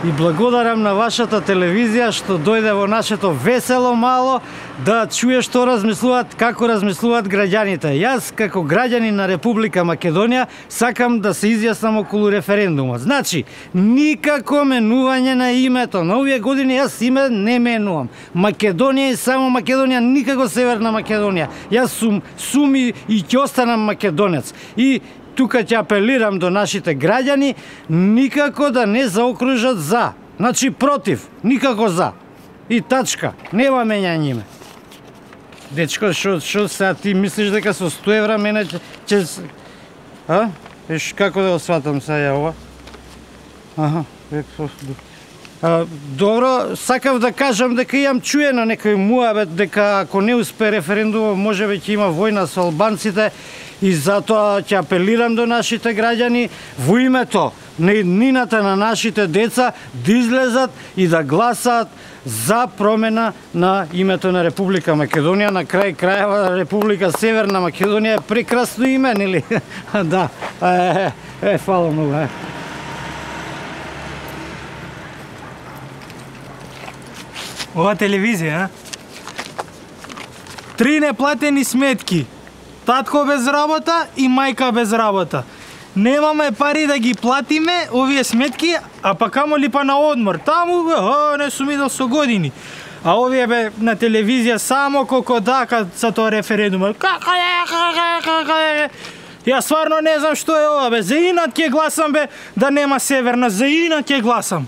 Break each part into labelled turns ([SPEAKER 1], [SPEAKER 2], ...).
[SPEAKER 1] и благодарам на вашата телевизија што дојде во нашето весело мало да чуе што размислуваат, како размислуваат граѓаните. Јас како граѓанин на Република Македонија сакам да се изјаснам околу референдумот. Значи, никако менување на името. На овие години јас име не менувам. Македонија и само Македонија, никако Северна Македонија. Јас сум и ќе останам македонец. И тука ќе апелирам до нашите граѓани никако да не заокружат за. Значи против, никако за. И тачка, нема менјање име. Дечко, шо сега ти мислиш дека со 100 евра мене ќе... А? Еш, како да го сватам сега ова? Аха, добро, сакав да кажам дека имам чуено некој муабет дека ако не успе референдумот можеби ќе има војна со албанците и затоа ќе апелирам до нашите граѓани во името на иднината на нашите деца да излезат и да гласаат за промена на името на Република Македонија. На крај крајава Република Северна Македонија е прекрасно име, нели? Да. Фала многу.
[SPEAKER 2] Ова телевизија, 3 неплатени сметки. Татко без работа и мајка без работа. Немаме пари да ги платиме овие сметки, а па камоли па на одмор. Таму не сум идел со години. А овие бе на телевизија само колку дака за тоа референдум. Како е? Јас стварно не знам што е ова бе. За инат ќе гласам бе да нема Северна, за инат ќе гласам.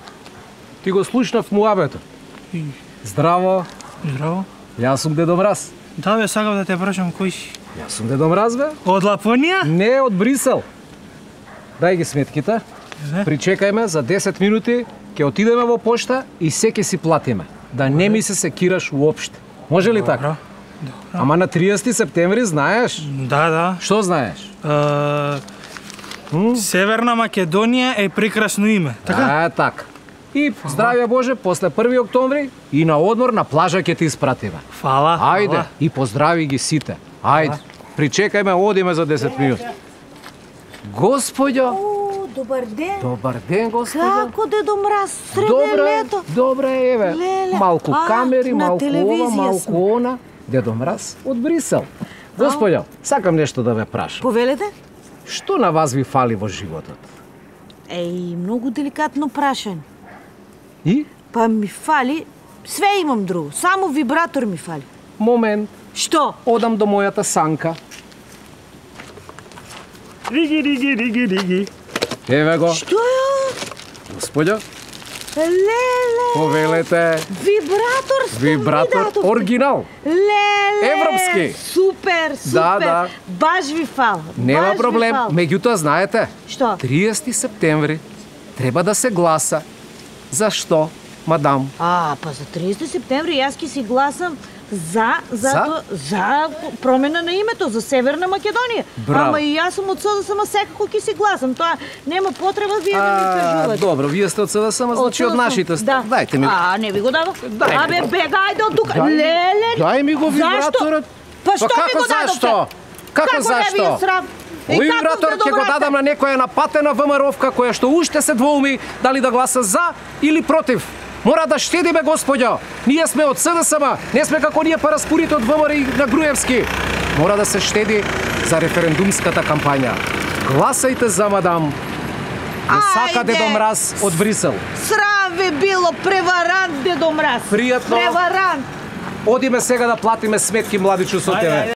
[SPEAKER 3] Ти го слушнав муабетот. Здраво.
[SPEAKER 2] Здраво.
[SPEAKER 3] Јас сум Дедо Мраз.
[SPEAKER 2] Да бе, сакав да те прашам кој си.
[SPEAKER 3] Јас сум Дедо Мраз бе.
[SPEAKER 2] Од Лапонија?
[SPEAKER 3] Не, од Брисел. Дај ги сметките. Причекајме за 10 минути, ќе отидеме во пошта и се ќе си платиме. Да не ми се секираш уопште. Може ли така? Ама на 30 септември знаеш?
[SPEAKER 2] Да.
[SPEAKER 3] Што знаеш?
[SPEAKER 2] Северна Македонија е прекрасно име, така?
[SPEAKER 3] Така. И здравје Боже, после 1 октомври и на одмор на плажа ќе ти испратиме.
[SPEAKER 2] Фала.
[SPEAKER 3] Ајде, и поздрави ги сите. Ајде, причекајме, одиме за 10 минути. Господјо!
[SPEAKER 4] Добар ден!
[SPEAKER 3] Добар ден, господјо!
[SPEAKER 4] Како Дедо Мраз, среде лето?
[SPEAKER 3] Добре, еве. Малку камери, малку ова, малку она. Дедо Мраз од Брисел. Господјо, сакам нешто да ве прашам.
[SPEAKER 4] Повелете?
[SPEAKER 3] Што на вас ви фали во животот?
[SPEAKER 4] Многу деликатно прашање.
[SPEAKER 3] И?
[SPEAKER 4] Па ми фали, све имам друго, само вибратор ми фали.
[SPEAKER 3] Момент.
[SPEAKER 4] Што?
[SPEAKER 3] Одам до мојата санка. Риги. Еве го.
[SPEAKER 4] Што е?
[SPEAKER 3] Господјо,
[SPEAKER 4] Леле!
[SPEAKER 3] повелете. Вибратор, оригинал.
[SPEAKER 4] Леле!
[SPEAKER 3] Европски.
[SPEAKER 4] Супер!
[SPEAKER 3] Да.
[SPEAKER 4] Баш ви фала.
[SPEAKER 3] Нема проблем. Меѓутоа, знаете,
[SPEAKER 4] Што?
[SPEAKER 3] 30 септември треба да се гласа. Зашто, мадам?
[SPEAKER 4] Па за 30 септември јас ќе си гласам за промена на името за Северна Македонија.
[SPEAKER 3] Браво.
[SPEAKER 4] Ама и јас сум од СДСМ, секако ќе си гласам. Тоа нема потреба вие да ми кажувате.
[SPEAKER 3] Добро, вие сте од СДСМ, значи од нашите сте.
[SPEAKER 4] Да.
[SPEAKER 3] Дајте ми.
[SPEAKER 4] Не ви го дадов?
[SPEAKER 3] Дај ми го.
[SPEAKER 4] Бега, ајде од тука. Леле.
[SPEAKER 3] Дај ми го вибраторот.
[SPEAKER 4] Па што ми го дадовте?
[SPEAKER 3] Како зашто? Овој вибратор ќе го дадам на некоја напатена ВМРО-вка која што уште се двоуми дали да гласа за или против. Мора да штедиме, господјо. Ние сме од СДСМ, не сме како ние параспорите од ВМРО и на Груевски. Мора да се штеди за референдумската кампања. Гласајте за мадам. Не сака Дедо Мраз од Брисел.
[SPEAKER 4] Срам ви било, преварант Дедо Мраз.
[SPEAKER 3] Пријатно.
[SPEAKER 4] Преварант.
[SPEAKER 3] Одиме сега да платиме сметки, младичу, со тебе.